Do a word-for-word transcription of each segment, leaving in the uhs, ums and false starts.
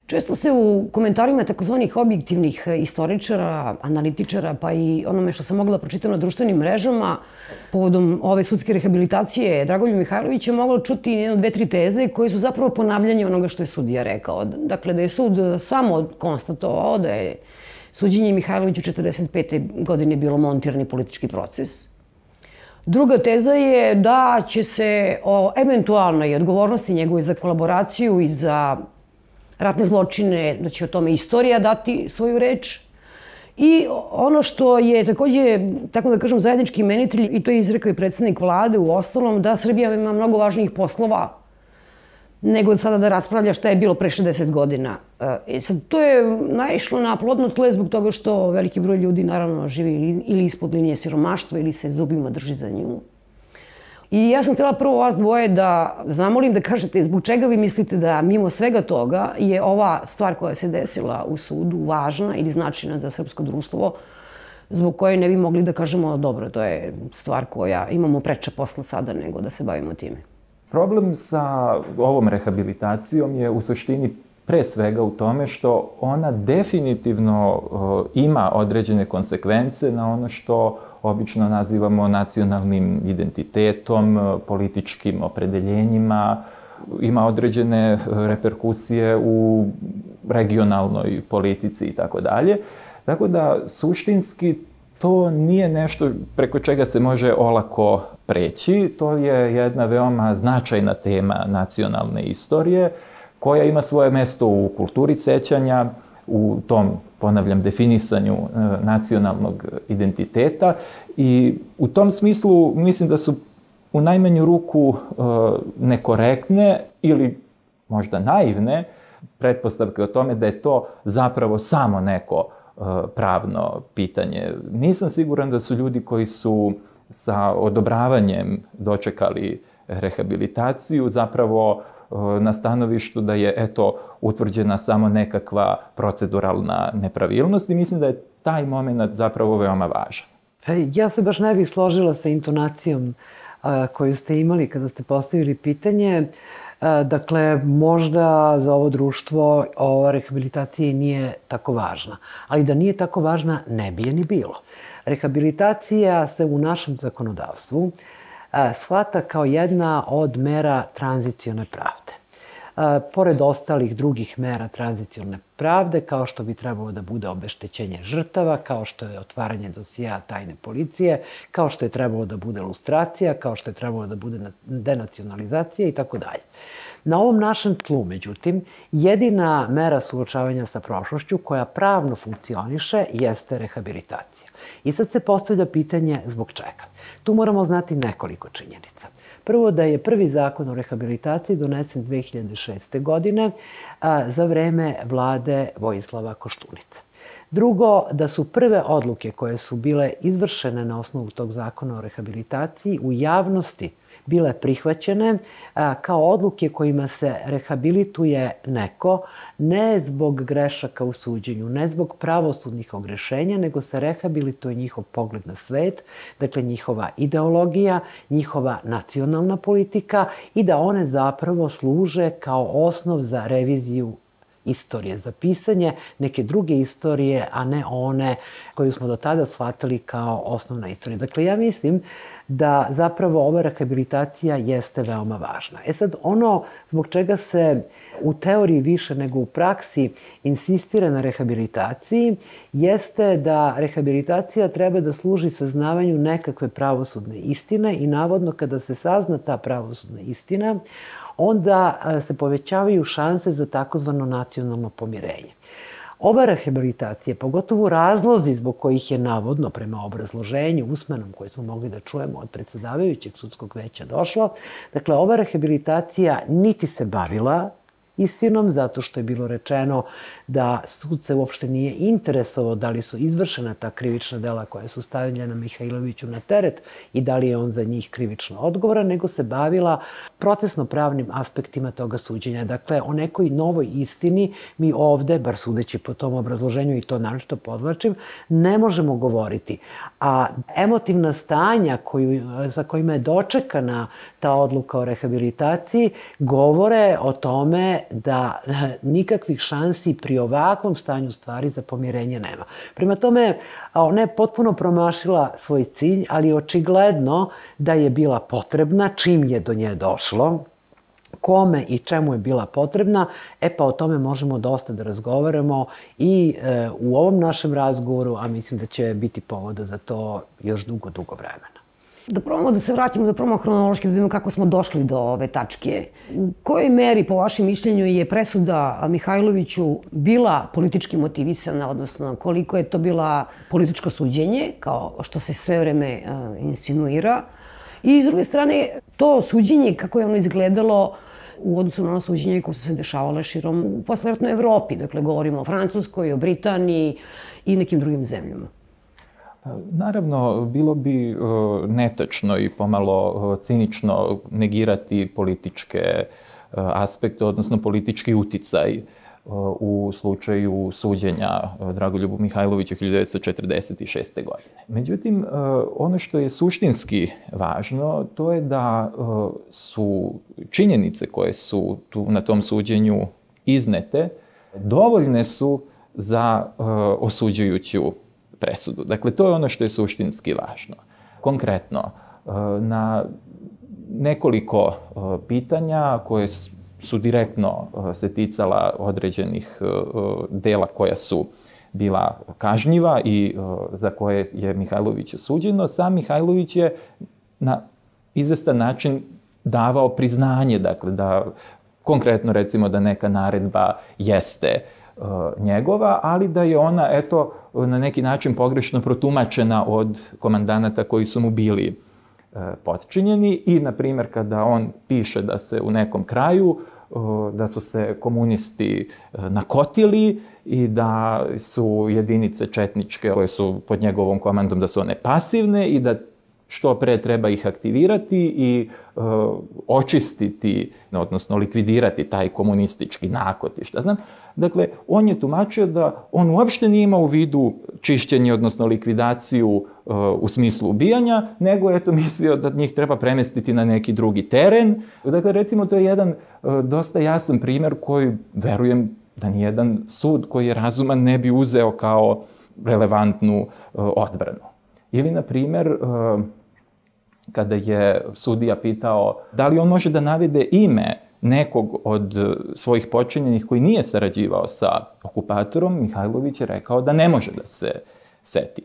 Često se u komentarima takozvanih objektivnih istoričara, analitičara, pa i onome što sam mogla pročitati na društvenim mrežama, povodom ove sudske rehabilitacije Dragoljuba Mihajlovića, mogla čuti jedno, dve, tri teze koje su zapravo ponavljanje onoga što je sudija rekao. Dakle, da je sud samo konstatovao da je suđenje Mihajloviću četrdeset pete godine bilo montirani politički proces. Druga teza je da će se o eventualnoj odgovornosti njegove za kolaboraciju i za ratne zločine, da će o tome istorija dati svoju reč. I ono što je takođe, tako da kažem, zajednički imenitelj, i to je izrekao i predsednik vlade u ostalom, da Srbija ima mnogo važnijih poslova nego sada da raspravlja šta je bilo pre šezdeset godina. E sad, to je naišlo na plodno tlo zbog toga što veliki broj ljudi naravno živi ili ispod linije siromaštva ili se zubima drži za nju. I ja sam htjela prvo vas dvoje da zamolim da kažete zbog čega vi mislite da mimo svega toga je ova stvar koja se desila u sudu važna ili značajna za srpsko društvo, zbog koje ne bi mogli da kažemo dobro, to je stvar koja imamo preča posla sada nego da se bavimo time. Problem sa ovom rehabilitacijom je u suštini pre svega u tome što ona definitivno ima određene konsekvence na ono što obično nazivamo nacionalnim identitetom, političkim opredeljenjima, ima određene reperkusije u regionalnoj politici i tako dalje. Tako da, suštinski, to nije nešto preko čega se može olako preći. To je jedna veoma značajna tema nacionalne istorije, koja ima svoje mesto u kulturi sećanja, u tom, ponavljam, definisanju nacionalnog identiteta. I u tom smislu mislim da su u najmanju ruku nekorektne ili možda naivne pretpostavke o tome da je to zapravo samo neko pravno pitanje. Nisam siguran da su ljudi koji su sa odobravanjem dočekali rehabilitaciju zapravo na stanovištu da je, eto, utvrđena samo nekakva proceduralna nepravilnost i mislim da je taj moment zapravo veoma važan. Ja se baš ne bih složila sa intonacijom koju ste imali kada ste postavili pitanje. Dakle, možda za ovo društvo ova rehabilitacija nije tako važna, ali da nije tako važna ne bi je ni bilo. Rehabilitacija se u našem zakonodavstvu shvata kao jedna od mera tranzicione pravde. Pored ostalih drugih mera tranzicione pravde, kao što bi trebalo da bude obeštećenje žrtava, kao što je otvaranje dosija tajne policije, kao što je trebalo da bude lustracija, kao što je trebalo da bude denacionalizacija i tako dalje. Na ovom našem tlu, međutim, jedina mera suočavanja sa prošlošću koja pravno funkcioniše jeste rehabilitacija. I sad se postavlja pitanje zbog čega. Tu moramo znati nekoliko činjenica. Prvo, da je prvi zakon o rehabilitaciji donesen dve hiljade šeste. godine za vreme vlade Vojislava Koštunice. Drugo, da su prve odluke koje su bile izvršene na osnovu tog zakona o rehabilitaciji u javnosti bile prihvaćene kao odluke kojima se rehabilituje neko, ne zbog grešaka u suđenju, ne zbog pravosudnih ogrešenja, nego se rehabilituje njihov pogled na svet, dakle njihova ideologija, njihova nacionalna politika i da one zapravo služe kao osnov za reviziju istorije, za pisanje neke druge istorije, a ne one koju smo do tada shvatili kao osnovna istorija. Dakle, ja mislim da zapravo ova rehabilitacija jeste veoma važna. E sad, ono zbog čega se u teoriji više nego u praksi insistira na rehabilitaciji jeste da rehabilitacija treba da služi saznavanju nekakve pravosudne istine i navodno kada se sazna ta pravosudna istina, onda se povećavaju šanse za takozvano nacionalno pomirenje. Ova rehabilitacija, pogotovo razlozi zbog kojih je navodno prema obrazloženju usmenom koje smo mogli da čujemo od predsedavajućeg sudskog veća došlo, dakle, ova rehabilitacija niti se bavila istinom, zato što je bilo rečeno da sud se uopšte nije interesovao da li su izvršena ta krivična dela koja su stavljena Mihajloviću na teret i da li je on za njih krivično odgovoran, nego se bavila procesno-pravnim aspektima toga suđenja. Dakle, o nekoj novoj istini mi ovde, bar sudeći po tom obrazloženju i to naročito podvlačim, ne možemo govoriti. A emotivna stanja koju, za kojima je dočekana ta odluka o rehabilitaciji govore o tome da nikakvih šansi pri ovakvom stanju stvari za pomirenje nema. Prema tome, ona je potpuno promašila svoj cilj, ali očigledno da je bila potrebna čim je do nje došlo, kome i čemu je bila potrebna, e pa o tome možemo dosta da razgovaramo i e, u ovom našem razgovoru, a mislim da će biti povoda za to još dugo, dugo vremena. Da probamo da se vratimo, da probamo hronološki, da vidimo kako smo došli do ove tačke. U kojoj meri, po vašem mišljenju, je presuda Mihajloviću bila politički motivisana, odnosno koliko je to bila političko suđenje, kao što se sve vreme uh, insinuira, i s druge strane, to suđenje, kako je ono izgledalo u odnosu na ono suđenje koje su se dešavale širom u posleratnoj Evropi. Dakle, govorimo o Francuskoj, o Britaniji i nekim drugim zemljama. Naravno, bilo bi netačno i pomalo cinično negirati političke aspekte, odnosno politički uticaj u slučaju suđenja Dragoljubu Mihajloviću hiljadu devetsto četrdeset šeste. godine. Međutim, ono što je suštinski važno, to je da su činjenice koje su tu na tom suđenju iznete, dovoljne su za osuđujuću presudu. Dakle, to je ono što je suštinski važno. Konkretno, na nekoliko pitanja koje su direktno se ticala određenih dela koja su bila kažnjiva i za koje je Mihajlović osuđeno, sam Mihajlović je na izvestan način davao priznanje, dakle, da konkretno recimo da neka naredba jeste njegova, ali da je ona, eto, na neki način pogrešno protumačena od komandanata koji su mu bili potčinjeni i, na primjer, kada on piše da se u nekom kraju, da su se komunisti nakotili i da su jedinice četničke koje su pod njegovom komandom, da su one pasivne i da što pre treba ih aktivirati i e, očistiti, odnosno likvidirati taj komunistički nakot i šta znam. Dakle, on je tumačio da on uopšte nije imao u vidu čišćenje, odnosno likvidaciju e, u smislu ubijanja, nego je to mislio da njih treba premestiti na neki drugi teren. Dakle, recimo, to je jedan e, dosta jasan primjer koji, verujem, da nijedan sud koji je razuman ne bi uzeo kao relevantnu e, odbranu. Ili, na primjer, kada je sudija pitao da li on može da navede ime nekog od svojih počinjenih koji nije sarađivao sa okupatorom, Mihajlović je rekao da ne može da se seti.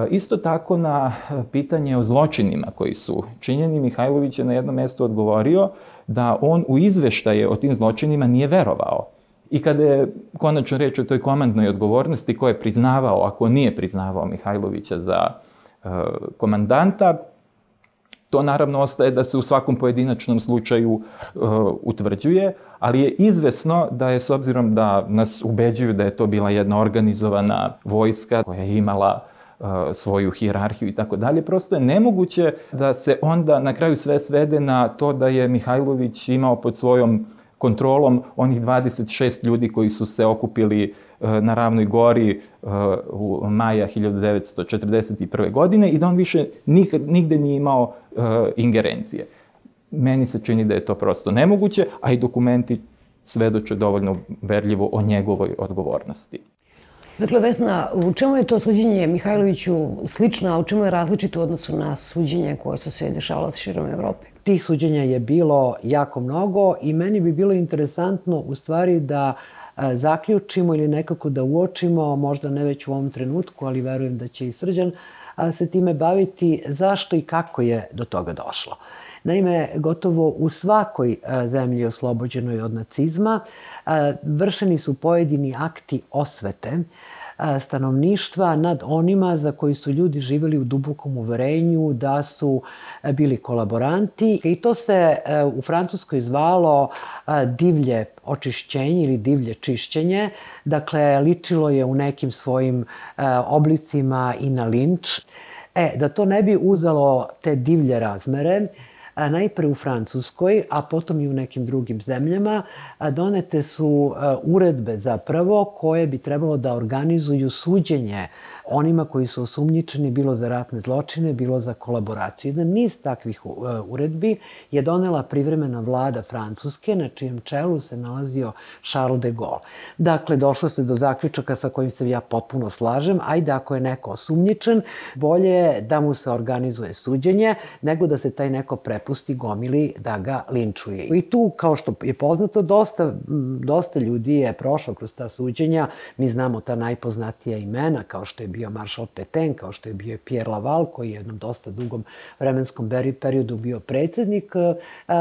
Isto tako, na pitanje o zločinima koji su činjeni, Mihajlović je na jednom mestu odgovorio da on u izveštaje o tim zločinima nije verovao. I kada je konačno reč o toj komandnoj odgovornosti, ko je priznavao, ako nije priznavao Mihajlovića za komandanta, to naravno ostaje da se u svakom pojedinačnom slučaju uh, utvrđuje, ali je izvesno da je, s obzirom da nas ubeđuju da je to bila jedna organizovana vojska koja je imala uh, svoju hijerarhiju i tako dalje, prosto je nemoguće da se onda na kraju sve svede na to da je Mihajlović imao pod svojom kontrolom onih dvadeset šest ljudi koji su se okupili na Ravnoj gori u maja hiljadu devetsto četrdeset prve. godine i da on više nikad, nigde nije imao ingerencije. Meni se čini da je to prosto nemoguće, a i dokumenti svedoče dovoljno verljivo o njegovoj odgovornosti. Dakle, Vesna, u čemu je to suđenje Mihajloviću slično, a u čemu je različito u odnosu na suđenje koje su se dešavalo širom Evrope? Tih suđenja je bilo jako mnogo i meni bi bilo interesantno u stvari da e, zaključimo ili nekako da uočimo, možda ne već u ovom trenutku, ali verujem da će i Srđan a, se time baviti, zašto i kako je do toga došlo. Naime, gotovo u svakoj a, zemlji oslobođenoj od nacizma a, vršeni su pojedini akti osvete stanovništva nad onima za koji su ljudi živjeli u dubokom uverenju da su bili kolaboranti. I to se u Francuskoj zvalo divlje očišćenje ili divlje čišćenje. Dakle, ličilo je u nekim svojim oblicima i na linč. E, da to ne bi uzelo te divlje razmere, najpre u Francuskoj, a potom i u nekim drugim zemljama, donete su uredbe zapravo koje bi trebalo da organizuju suđenje onima koji su osumnjičeni bilo za ratne zločine, bilo za kolaboraciju. Jedan niz takvih uredbi je donela privremena vlada Francuske, na čijem čelu se nalazio Charles de Gaulle. Dakle, došlo se do zaključaka sa kojim se ja potpuno slažem. Ajde, ako je neko osumnjičen, bolje je da mu se organizuje suđenje, nego da se taj neko prepusti gomili da ga linčuje. I tu, kao što je poznato, dosta, dosta ljudi je prošlo kroz ta suđenja. Mi znamo ta najpoznatija imena, kao što je bio maršal Pétain, kao što je bio Pierre Laval, koji je u jednom dosta dugom vremenskom periodu bio predsjednik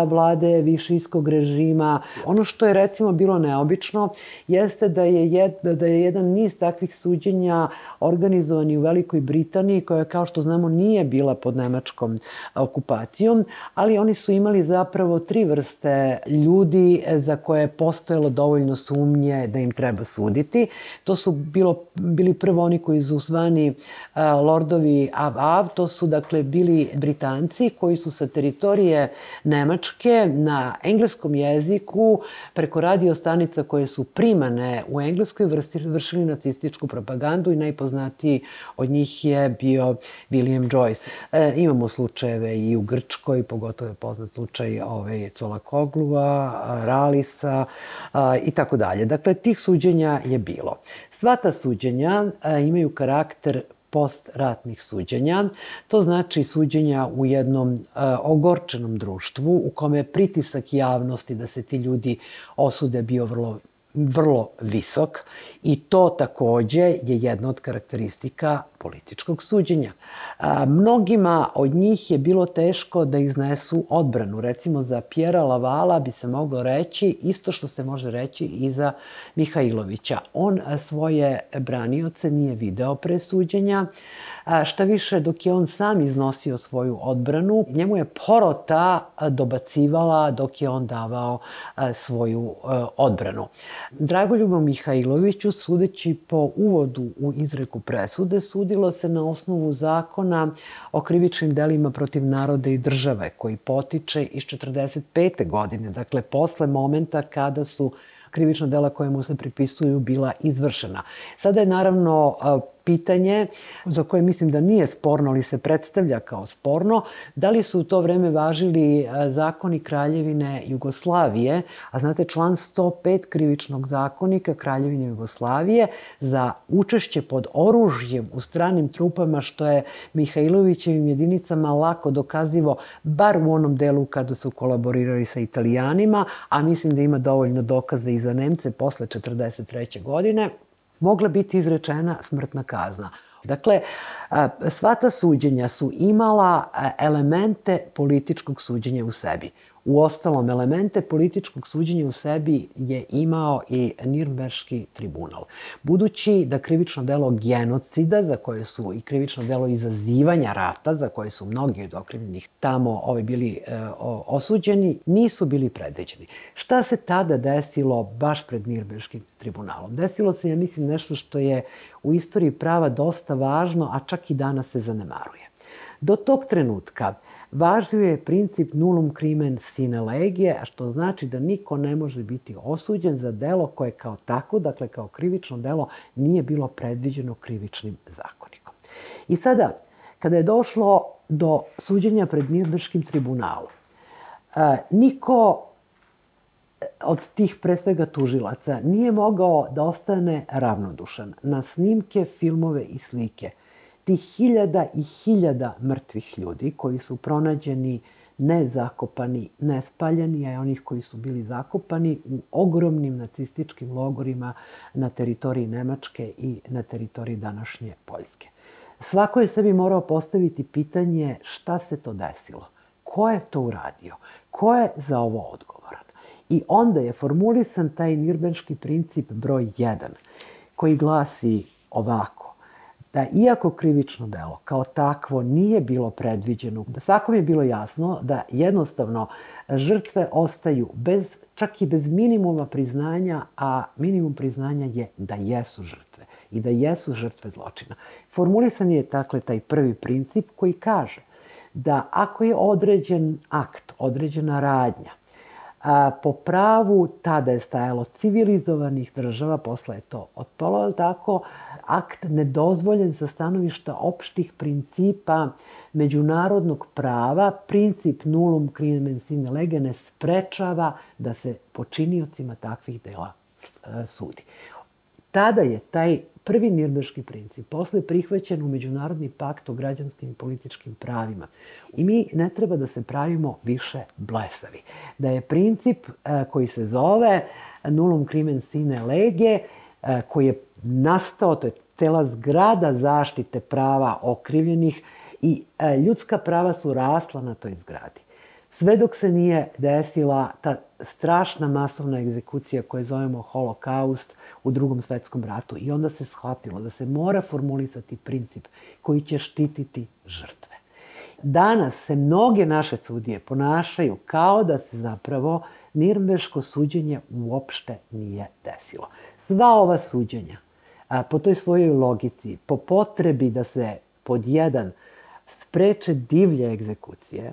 vlade višijskog režima. Ono što je recimo bilo neobično jeste da je, jed, da je jedan niz takvih suđenja organizovan i u Velikoj Britaniji, koja, kao što znamo, nije bila pod nemačkom okupacijom, ali oni su imali zapravo tri vrste ljudi za koje je postojalo dovoljno sumnje da im treba suditi. To su bilo, bili prvo oni koji su zvani lordovi av-av, to su dakle bili Britanci koji su sa teritorije Nemačke na engleskom jeziku preko radio stanica koje su primane u Engleskoj vršili nacističku propagandu i najpoznatiji od njih je bio William Joyce. E, imamo slučajeve i u Grčkoj, pogotovo je poznat slučaj ove Colakoglua, Ralisa a, i tako dalje. Dakle, tih suđenja je bilo. Sva ta suđenja a, imaju karakter postratnih suđenja. To znači suđenja u jednom uh, ogorčenom društvu u kome je pritisak javnosti da se ti ljudi osude bio vrlo vrlo visok i to takođe je jedna od karakteristika političkog suđenja. A, mnogima od njih je bilo teško da iznesu odbranu. Recimo za Pjera Lavala bi se moglo reći isto što se može reći i za Mihajlovića. On svoje branioce nije video pre suđenja. A, šta više, dok je on sam iznosio svoju odbranu, njemu je porota dobacivala dok je on davao a, svoju a, odbranu. Dragoljubu Mihajloviću, sudeći po uvodu u izreku presude, sudilo se na osnovu zakona o krivičnim delima protiv naroda i države, koji potiče iz četrdeset pete godine, dakle posle momenta kada su krivična dela koje mu se pripisuju bila izvršena. Sada je naravno pitanje za koje mislim da nije sporno, ali se predstavlja kao sporno, da li su u to vreme važili zakoni Kraljevine Jugoslavije, a znate član sto pet krivičnog zakonika Kraljevine Jugoslavije za učešće pod oružjem u stranim trupama, što je Mihajlovićevim jedinicama lako dokazivo, bar u onom delu kada su kolaborirali sa Italijanima, a mislim da ima dovoljno dokaza i za Nemce posle četrdeset treće godine, mogla biti izrečena smrtna kazna. Dakle, sva ta suđenja su imala elemente političkog suđenja u sebi. Uostalom, elemente političkog suđenja u sebi je imao i Nirnberški tribunal. Budući da krivično delo genocida, za koje su i krivično delo izazivanja rata, za koje su mnogi od okrivljenih tamo ovi bili e, osuđeni, nisu bili predviđeni. Šta se tada desilo baš pred Nirnberškim tribunalom? Desilo se, ja mislim, nešto što je u istoriji prava dosta važno, a čak i danas se zanemaruje. Do tog trenutka važio je princip nullum crimen sine lege, a što znači da niko ne može biti osuđen za delo koje kao tako, dakle kao krivično delo, nije bilo predviđeno krivičnim zakonikom. I sada, kada je došlo do suđenja pred Nirnberškim tribunalom, niko od tih, pre svega tužilaca, nije mogao da ostane ravnodušan na snimke, filmove i slike tih hiljada i hiljada mrtvih ljudi koji su pronađeni ne zakopani, ne spaljeni, a i onih koji su bili zakopani u ogromnim nacističkim logorima na teritoriji Nemačke i na teritoriji današnje Poljske. Svako je sebi morao postaviti pitanje šta se to desilo, ko je to uradio, ko je za ovo odgovoran. I onda je formulisan taj Nirnberški princip broj jedan, koji glasi: ovako, da iako krivično delo kao takvo nije bilo predviđeno, da svakom je bilo jasno da jednostavno žrtve ostaju bez, čak i bez minimuma priznanja, a minimum priznanja je da jesu žrtve i da jesu žrtve zločina. Formulisan je dakle taj prvi princip koji kaže da ako je određen akt, određena radnja, a, po pravu tada je stajalo civilizovanih država, posle je to otpalo, ali tako, akt nedozvoljen sa stanovišta opštih principa međunarodnog prava, princip nullum crimen sine lege ne sprečava da se počiniocima takvih dela e, sudi. Tada je taj prvi nirnberški princip posle prihvaćen u Međunarodni pakt o građanskim i političkim pravima. I mi ne treba da se pravimo više blesavi. Da je princip e, koji se zove nullum crimen sine lege, e, koji je nastao, to je cela zgrada zaštite prava okrivljenih i e, ljudska prava su rasla na toj zgradi. Sve dok se nije desila ta strašna masovna egzekucija koju zovemo holokaust u Drugom svetskom ratu. I onda se shvatilo da se mora formulisati princip koji će štititi žrtve. Danas se mnoge naše sudije ponašaju kao da se zapravo nirnberško suđenje uopšte nije desilo. Sva ova suđenja, a, po toj svojoj logici, po potrebi da se pod jedan spreče divlje egzekucije,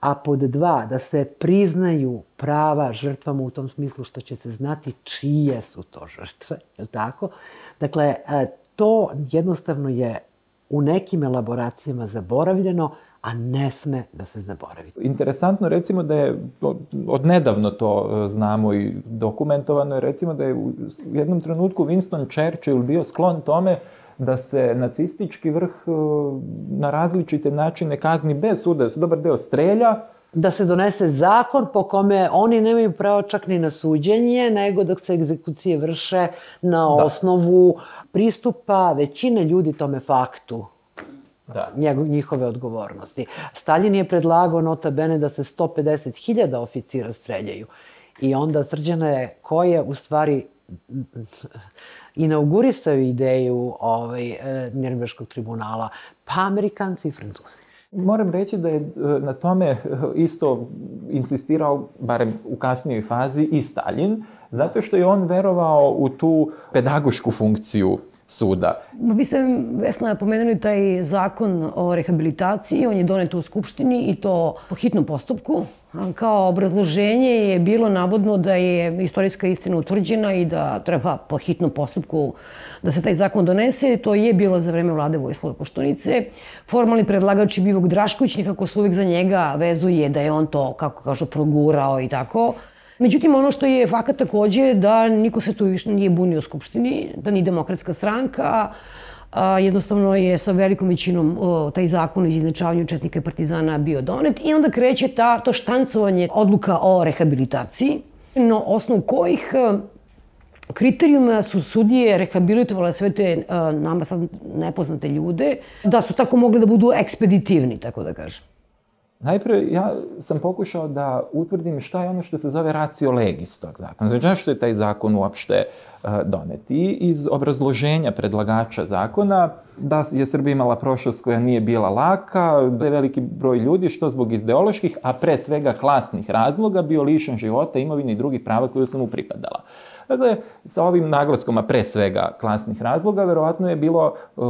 a pod dva, da se priznaju prava žrtvama u tom smislu što će se znati čije su to žrtve, je li tako? Dakle, to jednostavno je u nekim elaboracijama zaboravljeno, a ne sme da se zaboravi. Interesantno recimo da je, od nedavno to znamo i dokumentovano je recimo da je u jednom trenutku Winston Churchill bio sklon tome da se nacistički vrh na različite načine kazni bez suda, da se dobar deo strelja. Da se donese zakon po kome oni nemaju pravo čak ni na suđenje, nego da se egzekucije vrše na osnovu pristupa većine ljudi tome faktu. Da. Njihove odgovornosti. Stalin je predlagao nota bene da se sto pedeset hiljada oficira streljaju. I onda Srđana je ko je u stvari inaugurisao ideju ovaj, Nirnberškog tribunala, pa Amerikanci i Francuzi. Moram reći da je na tome isto insistirao, barem u kasnijoj fazi, i Stalin, zato što je on verovao u tu pedagošku funkciju suda. Vi ste, Vesna, pomenuli taj zakon o rehabilitaciji, on je donet u Skupštini i to po hitnom postupku. Kao obrazloženje je bilo navodno da je istorijska istina utvrđena i da treba po hitnom postupku da se taj zakon donese. To je bilo za vreme vlade Vojislava Koštunice. Formalni predlagač je bio Vuk Drašković, nekako se uvek za njega vezuje da je on to, kako kažu, progurao i tako. Međutim, ono što je fakat takođe je da niko se tu više nije bunio u Skupštini, da ni Demokratska stranka. Jednostavno je sa velikom većinom taj zakon o izjednačavanju četnika i partizana bio donet i onda kreće ta, to štancovanje odluka o rehabilitaciji, na osnovu kojih kriterijuma su sudije rehabilitovale sve te nama sad nepoznate ljude, da su tako mogli da budu ekspeditivni, tako da kažem. Najpre, ja sam pokušao da utvrdim šta je ono što se zove ratio legis tog zakona. Znači, zašto je taj zakon uopšte uh, donet? I iz obrazloženja predlagača zakona da je Srbija imala prošlost koja nije bila laka, da je veliki broj ljudi, što zbog ideoloških, a pre svega klasnih razloga, bio lišen života, imovine i drugih prava koje su mu pripadala. Dakle, sa ovim naglaskom, a pre svega klasnih razloga, verovatno je bilo uh,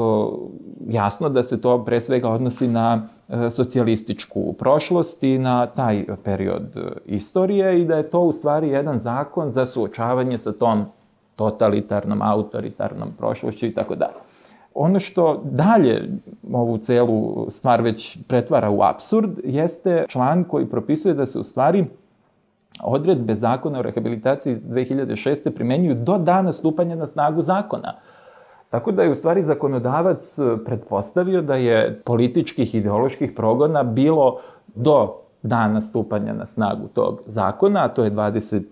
jasno da se to pre svega odnosi na uh, socijalističku prošlost i na taj period uh, istorije i da je to u stvari jedan zakon za suočavanje sa tom totalitarnom, autoritarnom prošlošću i tako dalje. Ono što dalje ovu celu stvar već pretvara u apsurd jeste član koji propisuje da se u stvari odredbe zakona o rehabilitaciji iz dve hiljade šeste. primenjuju do dana stupanja na snagu zakona. Tako da je u stvari zakonodavac pretpostavio da je političkih, ideoloških progona bilo do dana stupanja na snagu tog zakona, a to je dvadeset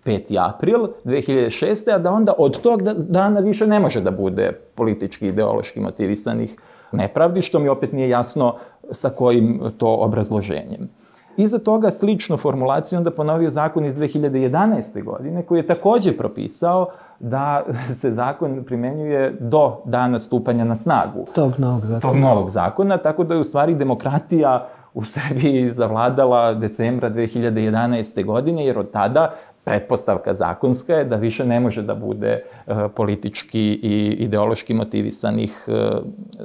peti april dve hiljade šeste. a da onda od tog dana više ne može da bude politički, ideološki motivisanih nepravdi, što mi opet nije jasno sa kojim to obrazloženjem. Iza toga sličnu formulaciju onda ponovio zakon iz dve hiljade jedanaeste. godine koji je takođe propisao da se zakon primenjuje do dana stupanja na snagu tog novog zakona. Tog novog zakona, tako da je u stvari demokratija u Srbiji zavladala decembra dve hiljade jedanaeste. godine, jer od tada pretpostavka zakonska je da više ne može da bude uh, politički i ideološki motivisanih uh,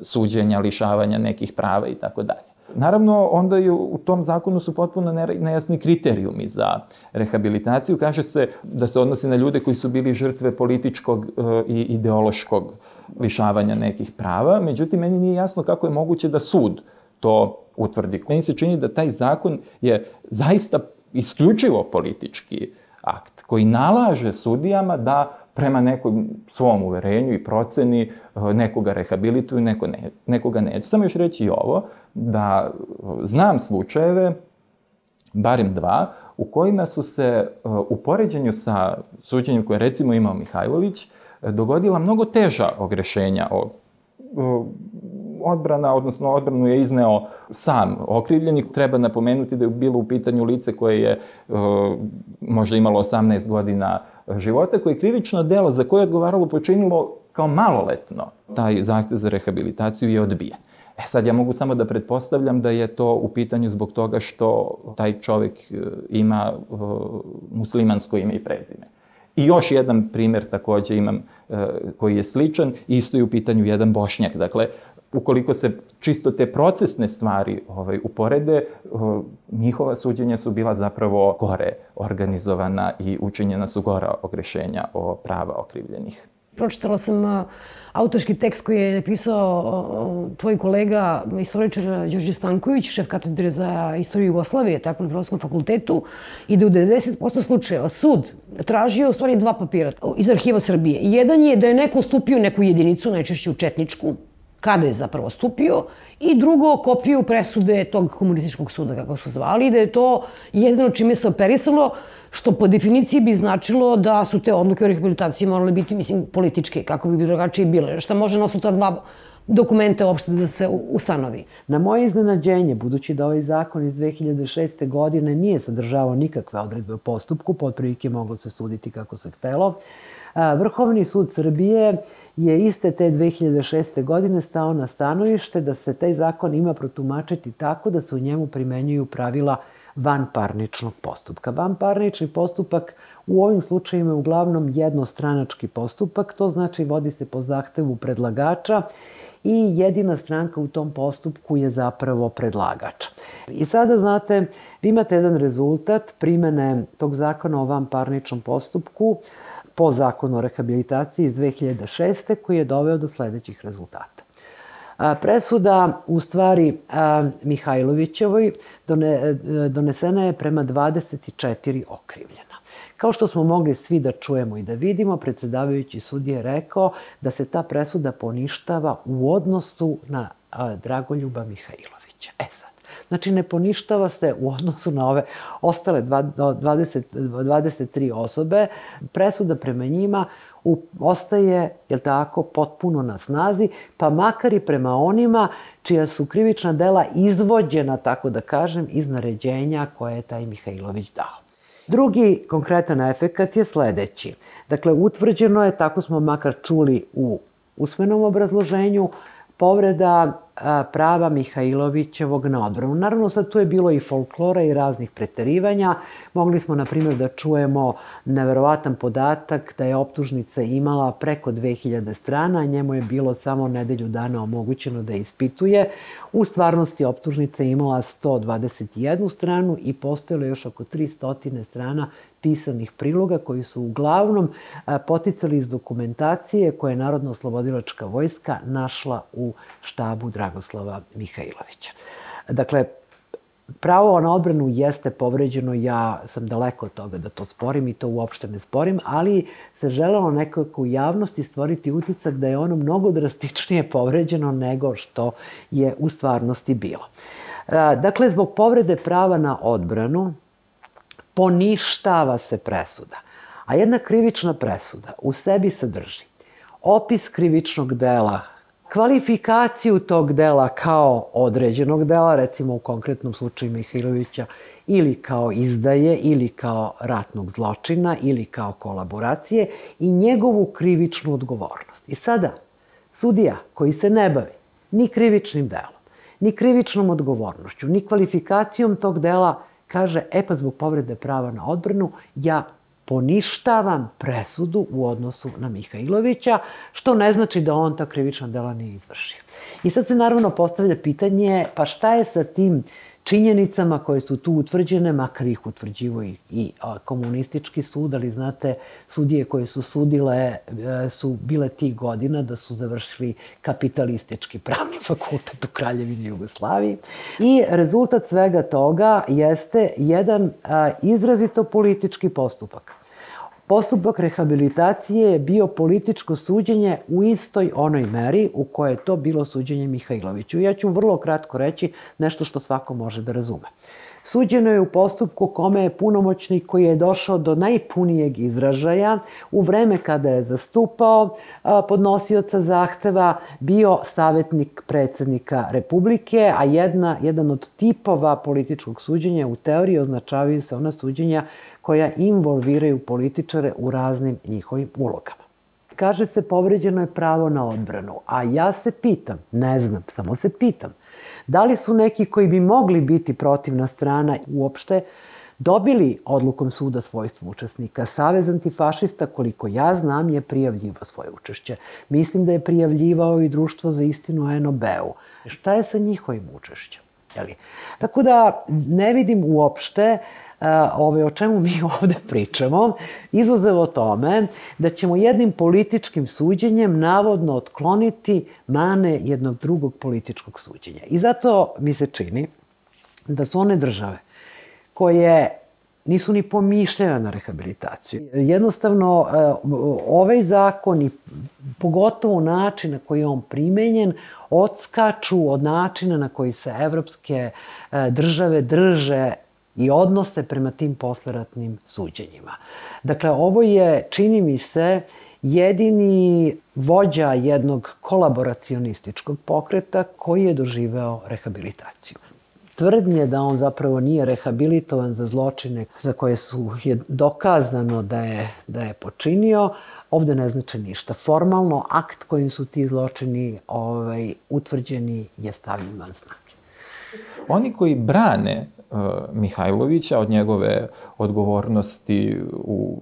suđenja, lišavanja nekih prava i tako dalje. Naravno, onda je u tom zakonu su potpuno nejasni kriterijumi za rehabilitaciju. Kaže se da se odnosi na ljude koji su bili žrtve političkog i ideološkog lišavanja nekih prava. Međutim, meni nije jasno kako je moguće da sud to utvrdi. Meni se čini da taj zakon je zaista isključivo politički akt koji nalaže sudijama da prema nekom svom uverenju i proceni nekoga rehabilituju, neko ne, nekoga neće. Samo još reći i ovo, da znam slučajeve, barem dva, u kojima su se u poređenju sa suđenjem koje recimo imao Mihajlović, dogodila mnogo teža ogrešenja o odbrana, odnosno odbranu je izneo sam okrivljeni. Treba napomenuti da je bilo u pitanju lice koje je uh, možda imalo osamnaest godina života, koje je krivično delo za koje je odgovaralo počinilo kao maloletno. Taj zahtev za rehabilitaciju je odbijen. E sad, ja mogu samo da pretpostavljam da je to u pitanju zbog toga što taj čovek ima uh, muslimansko ime i prezime. I još jedan primer takođe imam uh, koji je sličan, isto je u pitanju jedan Bošnjak. Dakle, ukoliko se čisto te procesne stvari ovaj, uporede, uh, njihova suđenja su bila zapravo gore organizovana i učinjena su gora ogrešenja o prava okrivljenih. Pročitala sam uh, autorski tekst koji je napisao uh, tvoj kolega, istoričar Đorđe Stanković, šef katedre za istoriju Jugoslavije, tako na Filozofskom fakultetu, i da u devedeset posto slučajeva sud tražio u stvari dva papira iz arhiva Srbije. Jedan je da je neko stupio u neku jedinicu, najčešće u četničku, kada je zapravo stupio, i drugo, kopiju presude tog komunističkog suda, kako su zvali, da je to jedino čime se operisalo, što po definiciji bi značilo da su te odluke o rehabilitaciji morale biti, mislim, političke, kako bi drugačije bile. Šta može na osnovu ta dva dokumenta uopšte da se ustanovi? Na moje iznenađenje, budući da ovaj zakon iz dve hiljade šeste. godine nije sadržavao nikakve odredbe o postupku, po otprilike moglo se suditi kako se htelo, Vrhovni sud Srbije je iste te dve hiljade šeste. godine stao na stanovište da se taj zakon ima protumačiti tako da se u njemu primenjuju pravila vanparničnog postupka. Vanparnični postupak u ovim slučajima je uglavnom jednostranački postupak, to znači vodi se po zahtevu predlagača i jedina stranka u tom postupku je zapravo predlagač. I sada, znate, vi imate jedan rezultat primene tog zakona o vanparničnom postupku po zakonu o rehabilitaciji iz dve hiljade šeste. koji je doveo do sledećih rezultata. Presuda, u stvari, Mihajlovićevoj donesena je prema dvadeset četiri okrivljena. Kao što smo mogli svi da čujemo i da vidimo, predsjedavajući sudija je rekao da se ta presuda poništava u odnosu na Dragoljuba Mihajlovića. E sad, znači ne poništava se u odnosu na ove ostale dvadeset, dvadeset tri osobe. Presuda prema njima ostaje, jel tako, potpuno na snazi, pa makar i prema onima čija su krivična dela izvođena, tako da kažem, iz naređenja koje je taj Mihajlović dao. Drugi konkretan efekat je sledeći. Dakle, utvrđeno je, tako smo makar čuli u usmenom obrazloženju, povreda prava Mihajlovićevog na odbranu. Naravno, sad tu je bilo i folklora i raznih preterivanja. Mogli smo, na primjer, da čujemo neverovatan podatak da je optužnica imala preko dve hiljade strana, a njemu je bilo samo nedelju dana omogućeno da ispituje. U stvarnosti optužnica je imala sto dvadeset jednu stranu i postojalo još oko tristo strana pisanih priloga koji su uglavnom poticali iz dokumentacije koje je Narodno-oslobodilačka vojska našla u štabu Dragoslava Mihajlovića. Dakle, pravo na odbranu jeste povređeno, ja sam daleko od toga da to sporim i to uopšte ne sporim, ali se želelo nekako u javnosti stvoriti utisak da je ono mnogo drastičnije povređeno nego što je u stvarnosti bilo. Dakle, zbog povrede prava na odbranu poništava se presuda, a jedna krivična presuda u sebi sadrži opis krivičnog dela kvalifikaciju tog dela kao određenog dela, recimo u konkretnom slučaju Mihajlovića, ili kao izdaje, ili kao ratnog zločina, ili kao kolaboracije i njegovu krivičnu odgovornost. I sada, sudija koji se ne bavi ni krivičnim delom, ni krivičnom odgovornošću, ni kvalifikacijom tog dela, kaže, e pa zbog povrede prava na odbranu, ja poništavam presudu u odnosu na Mihajlovića, što ne znači da on ta krivična dela nije izvršio. I sad se naravno postavlja pitanje, pa šta je sa tim činjenicama koje su tu utvrđene, makar ih utvrđivo i, i a, komunistički sud, ali znate, sudije koje su sudile e, su bile tih godina da su završili kapitalistički pravni fakultet u Kraljevini Jugoslaviji. I rezultat svega toga jeste jedan a, izrazito politički postupak. Postupak rehabilitacije je bio političko suđenje u istoj onoj meri u kojoj je to bilo suđenje Mihajloviću. Ja ću vrlo kratko reći nešto što svako može da razume. Suđeno je u postupku kome je punomoćnik koji je došao do najpunijeg izražaja u vreme kada je zastupao podnosioca zahteva bio savjetnik predsjednika Republike, a jedna, jedan od tipova političkog suđenja u teoriji označavaju se ona suđenja koja involviraju političare u raznim njihovim ulogama. Kaže se povređeno je pravo na odbranu, a ja se pitam, ne znam, samo se pitam, da li su neki koji bi mogli biti protivna strana uopšte dobili odlukom suda svojstvo učesnika? Savez antifašista, koliko ja znam, je prijavljivao svoje učešće. Mislim da je prijavljivao i Društvo za istinu en o be-u. Šta je sa njihovim učešćem? Tako da ne vidim uopšte ove, o čemu mi ovde pričamo, izuzev o tome da ćemo jednim političkim suđenjem navodno otkloniti mane jednog drugog političkog suđenja. I zato mi se čini da su one države koje nisu ni pomišljene na rehabilitaciju. Jednostavno, ovaj zakon i pogotovo način na koji je on primenjen odskaču od načina na koji se evropske države drže i odnose prema tim posleratnim suđenjima. Dakle, ovo je, čini mi se, jedini vođa jednog kolaboracionističkog pokreta koji je doživeo rehabilitaciju. Tvrdnje da on zapravo nije rehabilitovan za zločine za koje su je dokazano da je, da je počinio, ovde ne znači ništa. Formalno, akt kojim su ti zločini ovaj, utvrđeni je stavljen van snage. Oni koji brane Mihajlovića od njegove odgovornosti u,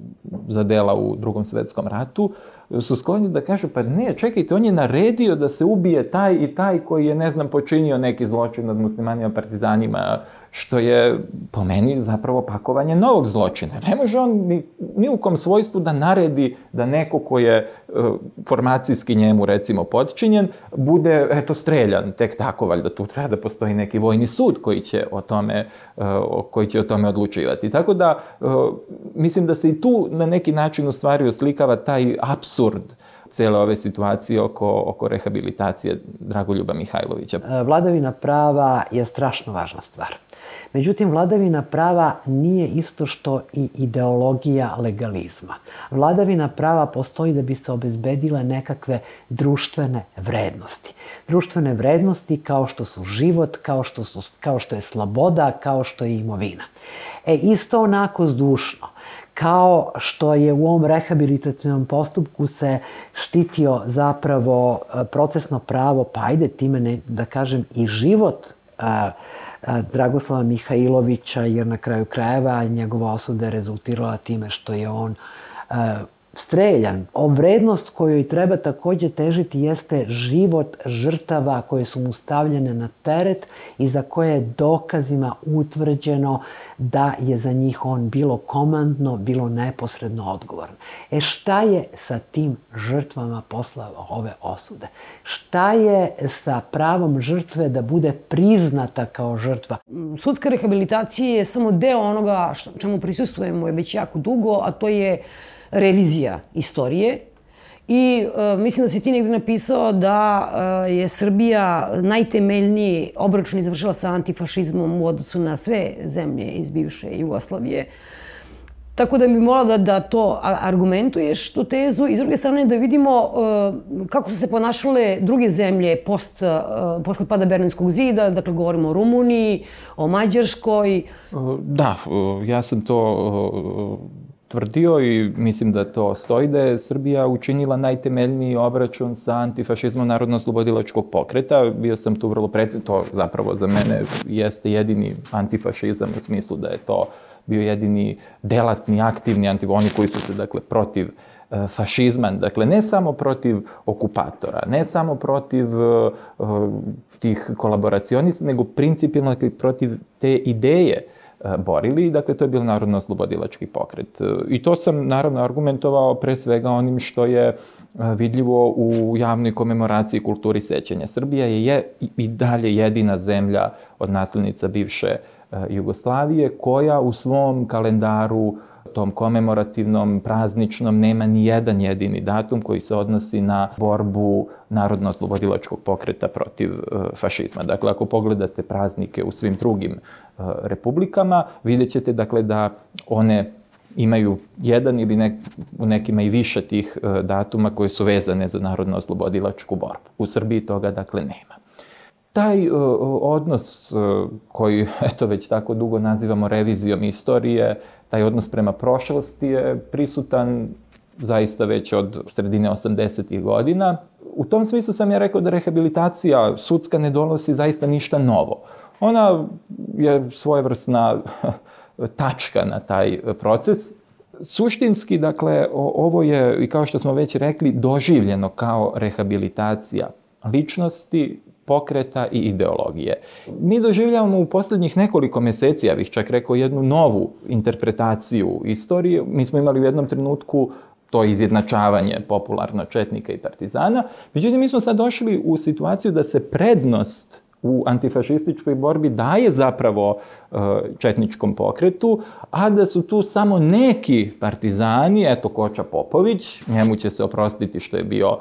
za dela u Drugom svetskom ratu, su skloni da kažu, pa ne, čekajte, on je naredio da se ubije taj i taj koji je, ne znam, počinio neki zločin nad muslimanima, partizanima, što je, po meni, zapravo pakovanje novog zločina. Ne može on ni, ni u kom svojstvu da naredi da neko ko je uh, formacijski njemu, recimo, potčinjen, bude, eto, streljan, tek tako, valjda tu treba da postoji neki vojni sud koji će o tome, uh, koji će o tome odlučivati. Tako da, uh, mislim da se i tu na neki način u stvari oslikava taj apsurd cele ove situacije oko, oko rehabilitacije Dragoljuba Mihajlovića. Vladavina prava je strašno važna stvar. Međutim, vladavina prava nije isto što i ideologija legalizma. Vladavina prava postoji da bi se obezbedile nekakve društvene vrednosti. Društvene vrednosti kao što su život, kao što, su, kao što je sloboda, kao što je imovina. E, isto onako zdušno, kao što je u ovom rehabilitacijnom postupku se štitio zapravo procesno pravo, pa ajde time ne, da kažem i život a, a, Dragoslava Mihajlovića, jer na kraju krajeva njegova osuda je rezultirala time što je on a, streljan. O vrednost kojoj treba takođe težiti jeste život žrtava koje su mu stavljene na teret i za koje je dokazima utvrđeno da je za njih on bilo komandno, bilo neposredno odgovoran. E šta je sa tim žrtvama posle ove osude? Šta je sa pravom žrtve da bude priznata kao žrtva? Sudska rehabilitacija je samo deo onoga što, čemu prisustujemo je već jako dugo, a to je revizija istorije. I e, mislim da si ti negdje napisao da e, je Srbija najtemeljniji obračun izvršila sa antifašizmom u odnosu na sve zemlje iz bivše Jugoslavije. Tako da bi molila da, da to argumentuješ, tu tezu, i s druge strane da vidimo uh, kako su se ponašale druge zemlje post, uh, posle pada Berlinskog zida, dakle govorimo o Rumuniji, o Mađarskoj. Da, ja sam to tvrdio i mislim da to stoji, da je Srbija učinila najtemeljniji obračun sa antifašizmom Narodno-oslobodilačkog pokreta. Bio sam tu vrlo precizno, to zapravo za mene jeste jedini antifašizam u smislu da je to bio jedini delatni, aktivni antifašizam, oni koji su se, dakle, protiv uh, fašizma, dakle, ne samo protiv okupatora, ne samo protiv uh, tih kolaboracionista, nego principijalno, dakle, protiv te ideje borili. Dakle, to je bio Narodno-oslobodilački pokret. I to sam, naravno, argumentovao pre svega onim što je vidljivo u javnoj komemoraciji kulturi sećanja. Srbija je i dalje jedina zemlja od naslednica bivše Jugoslavije koja u svom kalendaru, tom komemorativnom, prazničnom, nema ni jedan jedini datum koji se odnosi na borbu Narodno-oslobodilačkog pokreta protiv fašizma. Dakle, ako pogledate praznike u svim drugim republikama, vidjet ćete, dakle, da one imaju jedan ili nek, u nekima i više tih datuma koje su vezane za Narodno-oslobodilačku borbu. U Srbiji toga, dakle, nema. Taj uh, odnos uh, koji, eto, već tako dugo nazivamo revizijom istorije, taj odnos prema prošlosti je prisutan zaista već od sredine osamdesetih godina. U tom smislu sam ja rekao da rehabilitacija sudska ne donosi zaista ništa novo. Ona je svojevrsna tačka na taj proces. Suštinski, dakle, ovo je, i kao što smo već rekli, doživljeno kao rehabilitacija ličnosti, pokreta i ideologije. Mi doživljavamo u poslednjih nekoliko meseci, ja bih čak rekao, jednu novu interpretaciju istorije. Mi smo imali u jednom trenutku to izjednačavanje popularno četnika i partizana. Međutim, mi smo sad došli u situaciju da se prednost u antifašističkoj borbi daje zapravo četničkom pokretu, a da su tu samo neki partizani, eto Koča Popović, njemu će se oprostiti što je bio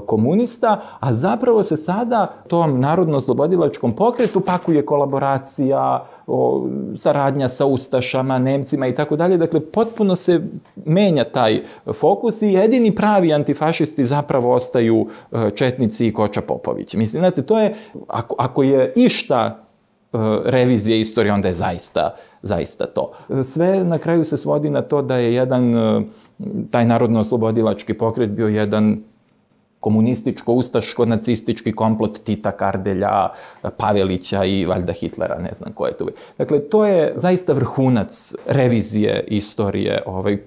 komunista, a zapravo se sada tom Narodno-oslobodilačkom pokretu pakuje kolaboracija, o, saradnja sa ustašama, Nemcima i tako dalje. Dakle, potpuno se menja taj fokus i jedini pravi antifašisti zapravo ostaju četnici i Koča Popović. Mislim, znate, to je, ako, ako je išta revizije istorije, onda je zaista, zaista to. Sve na kraju se svodi na to da je jedan, taj Narodno-oslobodilački pokret bio jedan komunističko-ustaško-nacistički komplot Tita, Kardelja, Pavelića i valjda Hitlera, ne znam ko je tu. Dakle, to je zaista vrhunac revizije istorije, ovaj,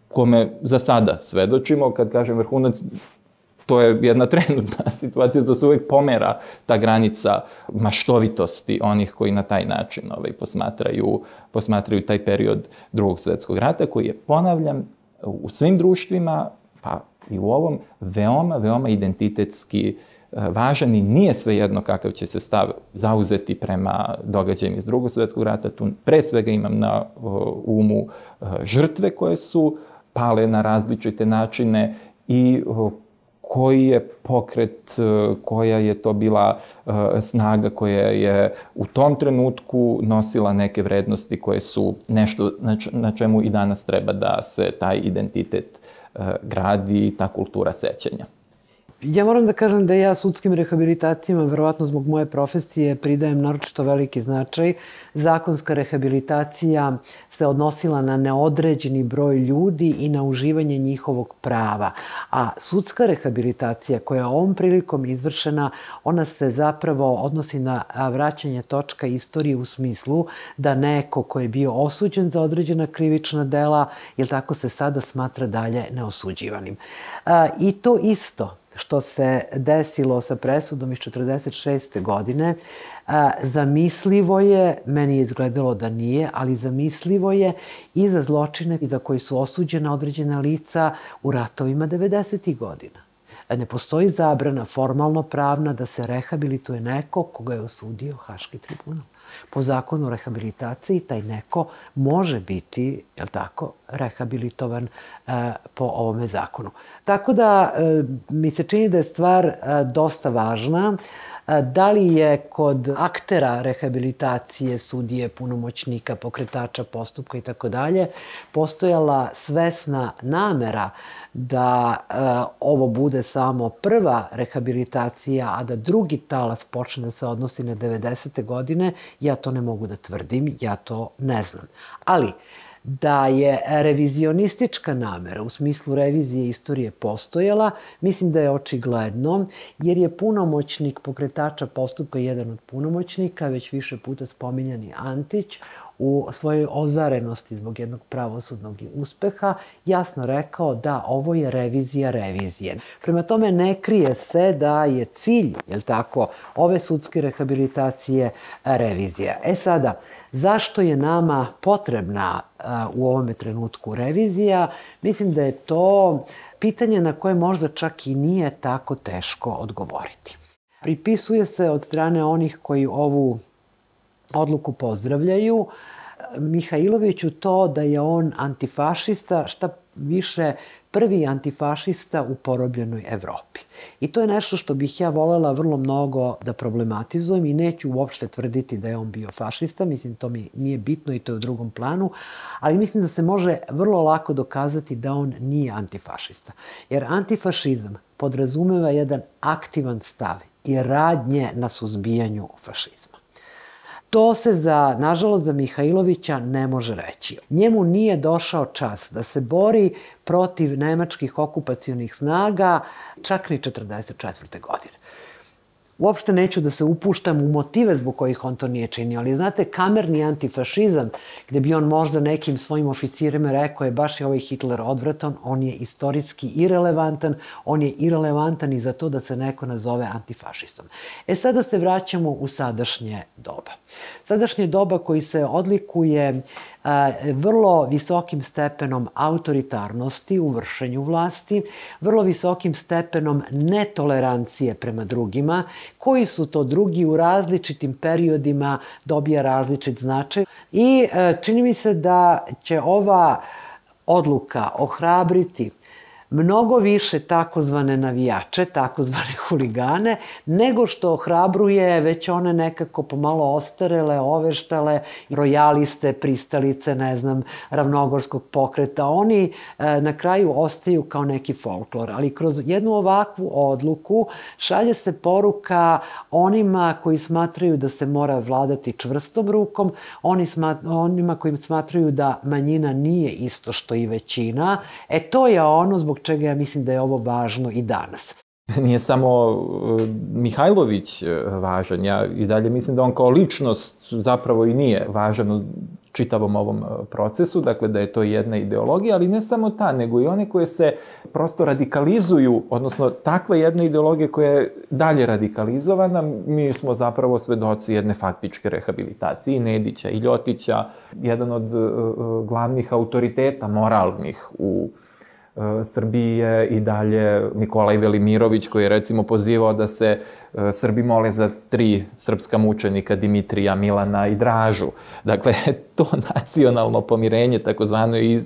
kome za sada svedočimo. Kad kažem vrhunac, to je jedna trenutna situacija, da se uvek pomera ta granica maštovitosti onih koji na taj način ovaj, posmatraju, posmatraju taj period Drugog svetskog rata, koji je, ponavljam, u svim društvima, pa i u ovom, veoma, veoma identitetski važan i nije svejedno kakav će se stav zauzeti prema događajima iz Drugog svetskog rata. Tu pre svega imam na umu žrtve koje su pale na različite načine i koji je pokret, koja je to bila snaga koja je u tom trenutku nosila neke vrednosti koje su nešto na čemu i danas treba da se taj identitet gradi i ta kultura sećanja. Ja moram da kažem da ja sudskim rehabilitacijama, verovatno zbog moje profesije, pridajem naročito veliki značaj. Zakonska rehabilitacija se odnosila na neodređeni broj ljudi i na uživanje njihovog prava. A sudska rehabilitacija koja je ovom prilikom izvršena, ona se zapravo odnosi na vraćanje točka istorije u smislu da neko ko je bio osuđen za određena krivična dela, jel tako, se sada smatra dalje neosuđivanim. I to isto što se desilo sa presudom iz četrdeset šeste. godine, zamislivo je, meni je izgledalo da nije, ali zamislivo je i za zločine za koji su osuđena određena lica u ratovima devedesetih godina. Ne postoji zabrana formalno pravna da se rehabilituje neko koga je osudio Haški tribunal. Po zakonu o rehabilitaciji taj neko može biti, jel tako, rehabilitovan e, po ovome zakonu. Tako da e, mi se čini da je stvar e, dosta važna. Da li je kod aktera rehabilitacije, sudije, punomoćnika, pokretača postupka i tako dalje, postojala svesna namera da e, ovo bude samo prva rehabilitacija, a da drugi talas počne da se odnosi na devedesete godine, ja to ne mogu da tvrdim, ja to ne znam. Ali, da je revizionistička namera u smislu revizije istorije postojala, mislim da je očigledno, jer je punomoćnik pokretača postupka jedan od punomoćnika, već više puta spominjani Antić, u svojoj ozarenosti zbog jednog pravosudnog uspeha, jasno rekao da ovo je revizija revizije. Prema tome ne krije se da je cilj, jel tako, ove sudske rehabilitacije revizija. E sada, zašto je nama potrebna u ovome trenutku revizija? Mislim da je to pitanje na koje možda čak i nije tako teško odgovoriti. Pripisuje se od strane onih koji ovu odluku pozdravljaju Mihajloviću to da je on antifašista, šta više prvi antifašista u porobljenoj Evropi. I to je nešto što bih ja volela vrlo mnogo da problematizujem i neću uopšte tvrditi da je on bio fašista, mislim to mi nije bitno i to je u drugom planu, ali mislim da se može vrlo lako dokazati da on nije antifašista. Jer antifašizam podrazumeva jedan aktivan stav i radnje na suzbijanju fašizma. To se, za, nažalost, za Mihajlovića ne može reći. Njemu nije došao čas da se bori protiv nemačkih okupacionih snaga čak ni četrdeset četvrte godine. Uopšte neću da se upuštam u motive zbog kojih on to nije činio, ali znate, kamerni antifašizam, gde bi on možda nekim svojim oficirima rekao je baš je ovaj Hitler odvratan, on je istorijski irelevantan, on je irelevantan i za to da se neko nazove antifašistom. E sada se vraćamo u sadašnje doba. Sadašnje doba koji se odlikuje vrlo visokim stepenom autoritarnosti u vršenju vlasti, vrlo visokim stepenom netolerancije prema drugima, koji su to drugi u različitim periodima dobija različit značaj. I čini mi se da će ova odluka ohrabriti mnogo više takozvane navijače, takozvane huligane, nego što ohrabruje već one nekako pomalo ostarele, oveštale, rojaliste, pristalice, ne znam, ravnogorskog pokreta. Oni e, na kraju ostaju kao neki folklor, ali kroz jednu ovakvu odluku šalje se poruka onima koji smatraju da se mora vladati čvrstom rukom, oni smat, onima koji smatraju da manjina nije isto što i većina. E to je ono zbog čega ja mislim da je ovo važno i danas. Nije samo Mihajlović važan, ja i dalje mislim da on kao ličnost zapravo i nije važan u čitavom ovom procesu, dakle da je to jedna ideologija, ali ne samo ta, nego i one koje se prosto radikalizuju, odnosno takva jedna ideologija koja je dalje radikalizovana, mi smo zapravo svedoci jedne faktičke rehabilitacije i Nedića i Ljotića, jedan od glavnih autoriteta moralnih u Srbiji je i dalje Nikolaj Velimirović, koji je recimo pozivao da se Srbi mole za tri srpska mučenika, Dimitrija, Milana i Dražu. Dakle, to nacionalno pomirenje, takozvano, je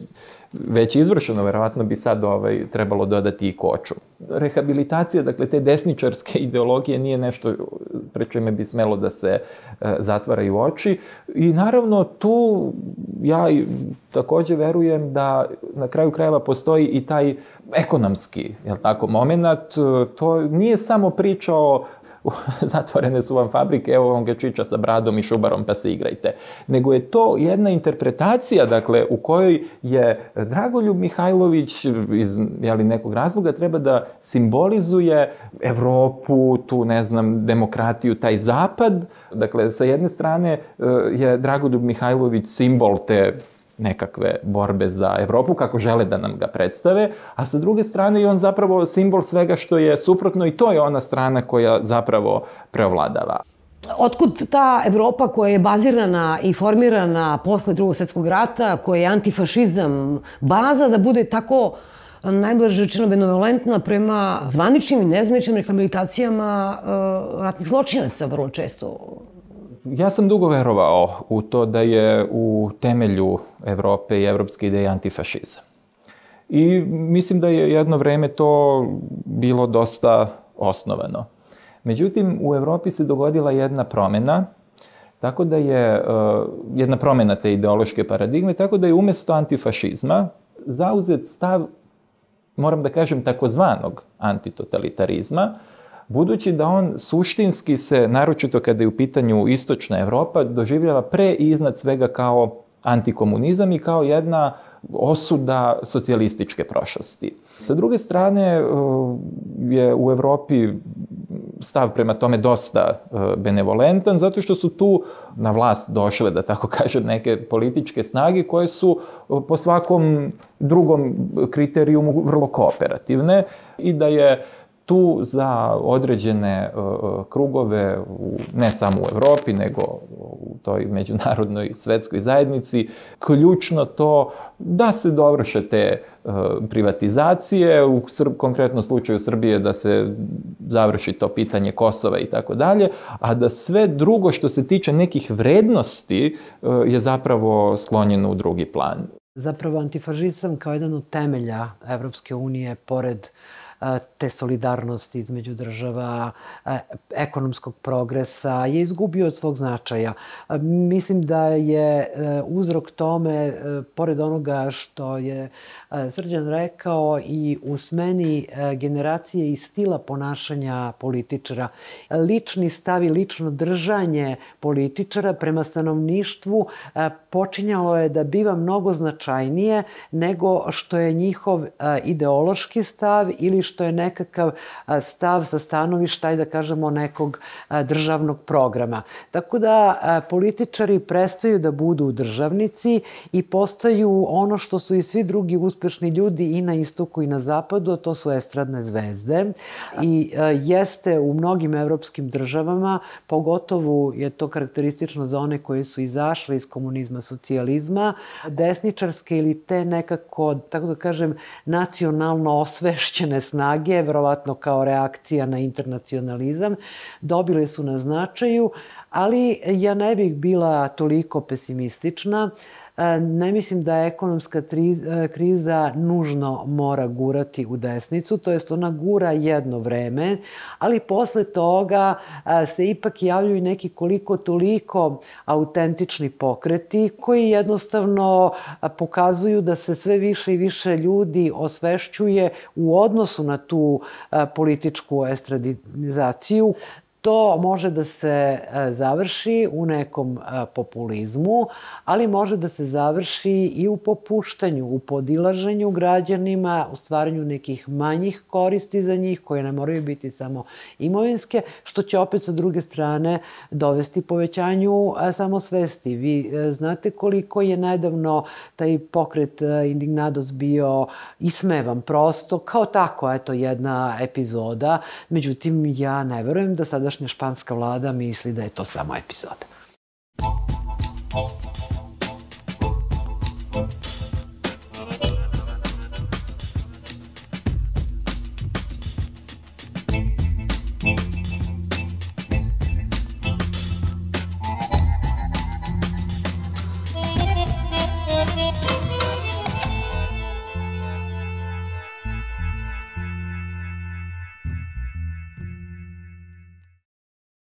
već izvršeno, verovatno bi sad ovaj, trebalo dodati i Koču. Rehabilitacija, dakle, te desničarske ideologije nije nešto pre čime bi smelo da se e, zatvaraju oči. I naravno tu ja takođe verujem da na kraju krajeva postoji i taj ekonomski, jel tako, moment. To nije samo priča o zatvorene su vam fabrike, evo vam ga čiča sa bradom i šubarom pa se igrajte. Nego je to jedna interpretacija, dakle, u kojoj je Dragoljub Mihajlović iz jeli, nekog razloga treba da simbolizuje Evropu, tu, ne znam, demokratiju, taj zapad. Dakle, sa jedne strane je Dragoljub Mihajlović simbol te nekakve borbe za Evropu, kako žele da nam ga predstave, a sa druge strane je on zapravo simbol svega što je suprotno i to je ona strana koja zapravo preovladava. Otkud ta Evropa koja je bazirana i formirana posle Drugog svjetskog rata, koja je antifašizam, baza da bude tako najblaže rečeno benevolentna prema zvaničnim i nezvaničnim rehabilitacijama ratnih zločinaca vrlo često? Ja sam dugo verovao u to da je u temelju Evrope i evropske ideje antifašizam. I mislim da je jedno vreme to bilo dosta osnovano. Međutim, u Evropi se dogodila jedna promjena, tako da je jedna promjena te ideološke paradigme, tako da je umjesto antifašizma zauzet stav, moram da kažem, takozvanog antitotalitarizma, budući da on suštinski se, naročito kada je u pitanju istočna Evropa, doživljava pre i iznad svega kao antikomunizam i kao jedna osuda socijalističke prošlosti. Sa druge strane, je u Evropi stav prema tome dosta benevolentan, zato što su tu na vlast došle, da tako kažem, neke političke snage koje su po svakom drugom kriterijumu vrlo kooperativne i da je tu za određene uh, krugove, u, ne samo u Evropi, nego u toj međunarodnoj svetskoj zajednici, ključno to da se dovrše te uh, privatizacije, u Srb, konkretnom slučaju Srbije da se završi to pitanje Kosova i tako dalje, a da sve drugo što se tiče nekih vrednosti uh, je zapravo sklonjeno u drugi plan. Zapravo antifašizam kao jedan od temelja Evropske unije, pored te solidarnosti između država, ekonomskog progresa, je izgubio od svog značaja. Mislim da je uzrok tome, pored onoga što je Srđan rekao, i u smeni generacije i stila ponašanja političara. Lični stav i lično držanje političara prema stanovništvu počinjalo je da biva mnogo značajnije nego što je njihov ideološki stav ili što je nekakav stav sa stanovišta, da kažemo, nekog državnog programa. Tako da političari prestaju da budu državnici i postaju ono što su i svi drugi uspešni ljudi i na istoku i na zapadu, a to su estradne zvezde. I jeste u mnogim evropskim državama, pogotovo je to karakteristično za one koji su izašle iz komunizma, socijalizma, desničarske ili te nekako, tako da kažem, nacionalno osvešćene snage, verovatno kao reakcija na internacionalizam, dobile su na značaju, ali ja ne bih bila toliko pesimistična. Ne mislim da ekonomska kriza nužno mora gurati u desnicu, to jest ona gura jedno vreme, ali posle toga se ipak javljaju neki koliko toliko autentični pokreti koji jednostavno pokazuju da se sve više i više ljudi osvešćuje u odnosu na tu političku estradizaciju. To može da se završi u nekom populizmu, ali može da se završi i u popuštanju, u podilaženju građanima, u stvaranju nekih manjih koristi za njih, koje ne moraju biti samo imovinske, što će opet sa druge strane dovesti povećanju samosvesti. Vi znate koliko je nedavno taj pokret Indignados bio ismevan prosto, kao tako, eto, jedna epizoda. Međutim, ja ne verujem da sada španska vlada misli da je to samo epizoda.